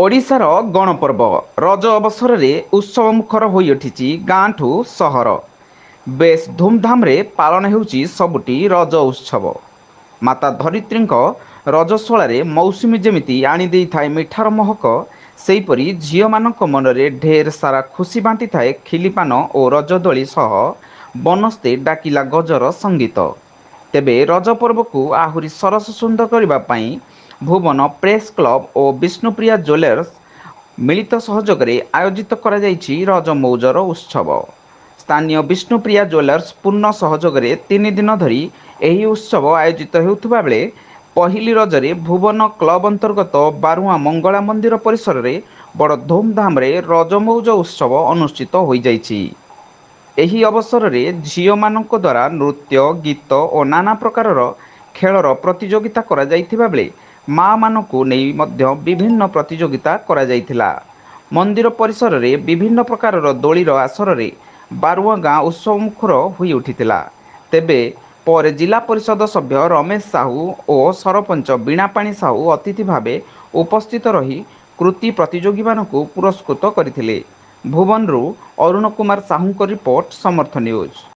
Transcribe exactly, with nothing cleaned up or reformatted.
ଓଡ଼ିଶାର ଗଣପର୍ବ ରଜ ଅବସରରେ ଉତ୍ସବମୁଖର ହୋଇଉଠିଛି ଗାଁଠୁ ସହର। ବେଶ୍ ଧୁମ୍ଧାମ୍ରେ ପାଳନ ହେଉଛି ସବୁଠି ରଜ ଉତ୍ସବ। ମାତା ଧରିତ୍ରୀଙ୍କ ରଜସ୍ୱଳାରେ ମୌସୁମୀ ଯେମିତି ଆଣିଦେଇଥାଏ ମିଠାର ମହକ, ସେହିପରି ଝିଅମାନଙ୍କ ମନରେ ଢେର ସାରା ଖୁସି ବାଣ୍ଟିଥାଏ ଖିଲିପାନ ଓ ରଜଦୋଳି ସହ ବନସ୍ତେ ଡାକିଲା ଗଜର ସଙ୍ଗୀତ। ତେବେ ରଜ ପର୍ବକୁ ଆହୁରି ସରସ ସୁନ୍ଦର କରିବା ପାଇଁ ଭୁବନ ପ୍ରେସ୍ କ୍ଲବ ଓ ବିଷ୍ଣୁପ୍ରିୟା ଜୁଏଲର୍ସ ମିଳିତ ସହଯୋଗରେ ଆୟୋଜିତ କରାଯାଇଛି ରଜ ମଉଜର ଉତ୍ସବ। ସ୍ଥାନୀୟ ବିଷ୍ଣୁପ୍ରିୟା ଜୁଏଲର୍ସ ପୂର୍ଣ୍ଣ ସହଯୋଗରେ ତିନି ଦିନ ଧରି ଏହି ଉତ୍ସବ ଆୟୋଜିତ ହେଉଥିବା ବେଳେ ପହିଲି ରଜରେ ଭୁବନ କ୍ଲବ ଅନ୍ତର୍ଗତ ବାରୁଆଁ ମଙ୍ଗଳା ମନ୍ଦିର ପରିସରରେ ବଡ଼ ଧୁମ୍ଧାମ୍ରେ ରଜ ମଉଜ ଉତ୍ସବ ଅନୁଷ୍ଠିତ ହୋଇଯାଇଛି। ଏହି ଅବସରରେ ଝିଅମାନଙ୍କ ଦ୍ୱାରା ନୃତ୍ୟ, ଗୀତ ଓ ନାନା ପ୍ରକାରର ଖେଳର ପ୍ରତିଯୋଗିତା କରାଯାଇଥିବା ବେଳେ ମାଆମାନଙ୍କୁ ନେଇ ମଧ୍ୟ ବିଭିନ୍ନ ପ୍ରତିଯୋଗିତା କରାଯାଇଥିଲା। ମନ୍ଦିର ପରିସରରେ ବିଭିନ୍ନ ପ୍ରକାରର ଦୋଳିର ଆସରରେ ବାରୁଆଁ ଗାଁ ଉତ୍ସବମୁଖର ହୋଇଉଠିଥିଲା। ତେବେ ପରେ ଜିଲ୍ଲା ପରିଷଦ ସଭ୍ୟ ରମେଶ ସାହୁ ଓ ସରପଞ୍ଚ ବୀଣାପାଣି ସାହୁ ଅତିଥି ଭାବେ ଉପସ୍ଥିତ ରହି କୃତି ପ୍ରତିଯୋଗୀମାନଙ୍କୁ ପୁରସ୍କୃତ କରିଥିଲେ। ଭୁବନରୁ ଅରୁଣ କୁମାର ସାହୁଙ୍କ ରିପୋର୍ଟ, ସମର୍ଥ ନ୍ୟୁଜ୍।